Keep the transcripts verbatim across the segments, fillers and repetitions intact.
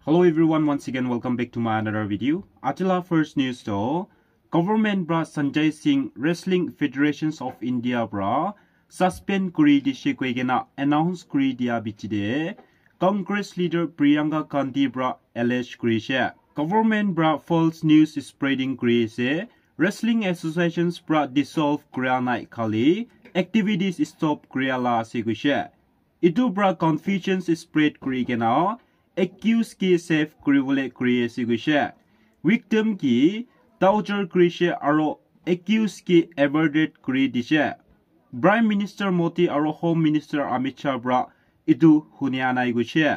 Hello everyone, once again welcome back to my another video. Aji la first news to, government pra Sanjay Singh Wrestling Federations of India pra suspend kuri dishe koi kena announce kuri dia bichi de Congress leader Priyanka Gandhi pra allege kuri she. Government pra false news spreading kuri ase. Wrestling associations pra dissolve kura nai, khali activities stop kura la ase koi she. Etu pra confusion spread kuri kena accused ke safe kuri bole kuri ase koi she. Victim ke torture kuri she aro accused ke aborted kuri dishe. Prime Minister Modi aro Home Minister Amit Shah pra etu hunia nai koi she.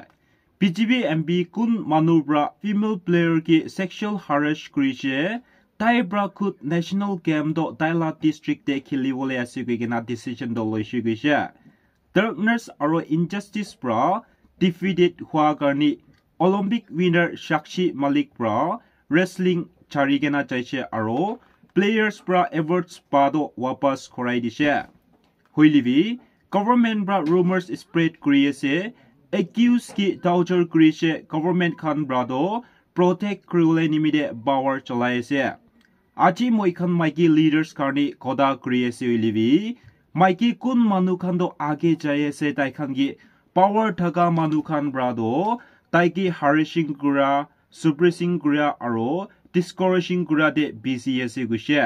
B J P M P kun manu pra female player ke sexual harass kuri she, tai pra khud national game to tai la district te kheli bole ase koi kena decision to loi she koi she. Darkness aro injustice pra defeated hua karni Olympic winner Sakshi Malik pra wrestling chari kena jai she aro players pra awards pa to wapas korai dishe. Hoile bi, government pra rumors spread kuri ase, accused ke torture kuri she, government khan pra to protect kuri bole nimite power cholai ase. Aji moi khan maiki leaders karni kotha kuri ase hoile bi, maiki kun manu khan to age jai ase, tai khan ke power thaka manu khan pra to tai ke harassing kura, suppressing kura aro discouraging kura te busy ase koi she.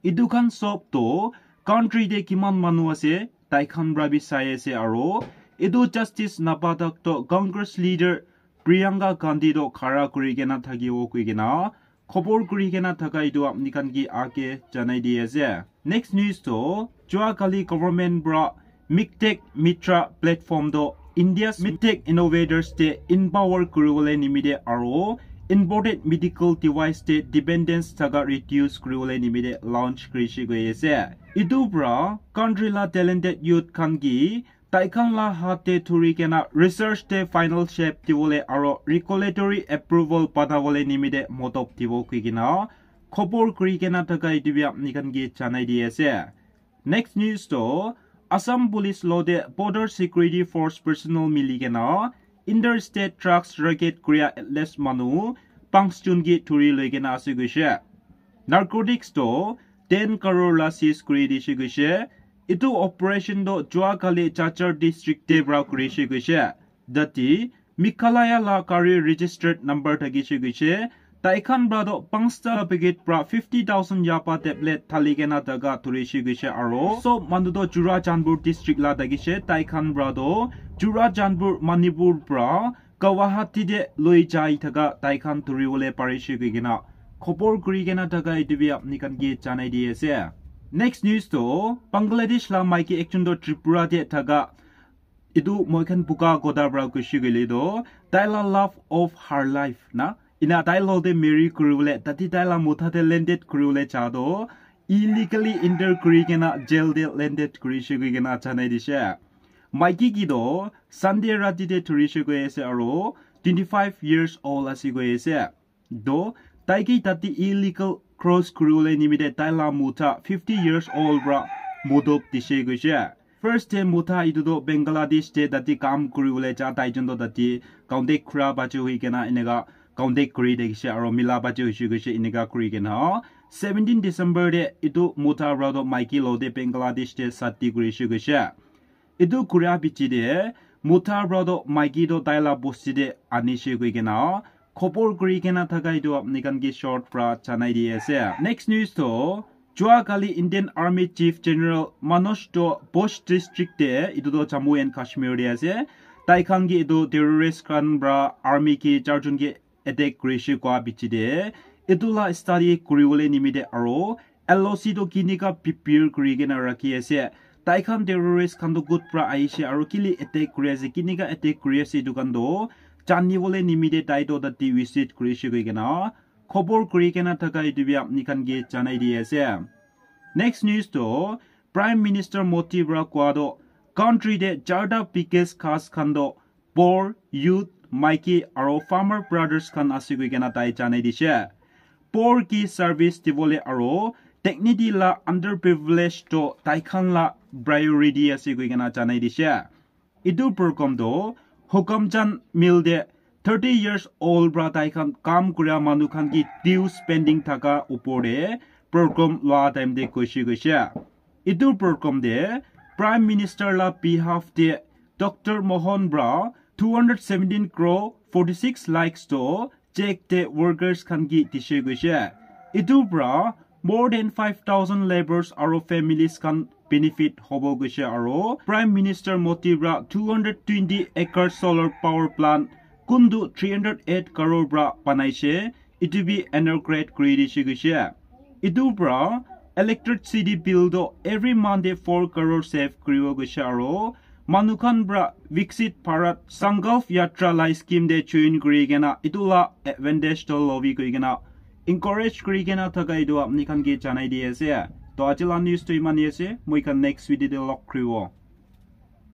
Etu khan sob to country te kiman manu ase, tai khan pra bi sai ase aro etu justice napa tak to Congress leader Priyanka Gandhi to khara kuri kena thakibo koi kena khobor kuri kena thaka etu apni khan ke age janai di ase. Next news to, jua kali government pra MIGTECH Mitra platform to India's MIGTECH innovators te empower kuri bole nimite aro imported medical device te dependence thaka reduce kuri bole nimite launch kuri she koi ase. Etu pra country la talented youth khan ke tai khan la hat te thuri kena research te final shape di bole aro regulatory approval bana bole nimite modop dibo koi kena khobor kuri kena thaka etu bi apni khan ke janai di ase. Next news to, Assam Police lo te Border Security Force personnel mili kena interstate drugs racket kuria atlas manu panch jun ke thuri loi kena ase koi she. Narcotics to ten crore la seize kuri dishe koi she. Etu operation to jua kali Cachar district te pra kuri she koi she. Dati Meghalaya la gari registered number thaki she koi she. Tai khan pra to panchta packet pra fifty thousand yaba tablet thali kena thaka thuri she koi she aro sob manu to Churachandpur district la thaki she. Tai khan pra to Churachandpur Manipur pra Guwahati te loi jai thaka tai khan thuri bole pari she koi kena khobor kuri kena thaka etu bi apni khan ke janai di ase. Next news to Bangladesh la maiki ekjon to Tripura te thaka etu moi khan buka kotha pra kushi koile to tai la love of her life na ina tai lo te marry kuri bole tate tai la motha te landed kuri bole cha to illegally enter kuri kena jail te landed kuri she koi kena janai dishe. Maiki ke to Sunday rati te thuri she koi ase aro twenty five years old ase koi ase. To tai ke tate illegal cross kuri bole nimite tai la motha fifty years old pra modop dishe koi she. First te motha etu to Bangladesh te tate kam kuri bole ja tai jon to tate contact kura bache hoi kena eneka contact kuri thakishe aro mila bache hoishe koishe eneka kuri kena seventeen December te etu motha para to maiki lo te Bangladesh te sati kurishe koishe. Etu kuria piche te motha para to maiki to tai la bosti te anishe koi kena khobor kuri kena thaka etu apni khan ke short para janai di ase. Next news to jua kali Indian Army Chief General Manoj to Bauch district te etu to Jammu and Kashmir te ase. Tai khan ke etu terrorist khan para army ke char jon ke attack kurishe koa piche te etu la study kuribole nimite aro L O C to kinika prepare kuri kena rakhi ase. Tai khan terrorist khan to kot pra ahishe aro kile attack kuri ase, kinika attack kuri ase etu khan to janibole nimite tai to tate visit kurishe koi kena khobor kuri kena thaka etu bi apni khan ke janai di ase. Next news to Prime Minister Modi para koa to country te charta biggest khas khan to poor, youth, maiki aro farmer brothers khan ase koi kena tai janai dishe. Poor ke service dibole aro dignity la underprivileged to tai khan la priority ase koi kena janai dishe. Etu program to Hukamchand Mill te thirty years old pra tai khan kam kuria manu khan ki dues pending thaka upor te program lua time te koishe koishe. Etu program te Prime Minister la behalf te Doctor Mohan pra two hundred seventeen crore forty-six lakhs to check te workers khan ki dishe koishe. Etu pra more than five thousand labourers aro families khan benefit hobo koishe aro Prime Minister Modi pra two hundred twenty acre solar power plant kuntu three hundred eight crore pra banaishe, etu bi inaugurate kuri dishe koishe. Etu pra electricity bill to every month te four crore save kuribo koishe aro manu khan pra Viksit Bharat Sankalp Yatra la scheme te join kuri kena etu la advantage to lobi koi kena encourage kuri kena thaka etu apni khan ke janai di ase. To aji la news to iman hi ase, moi khan next video te log kuribo.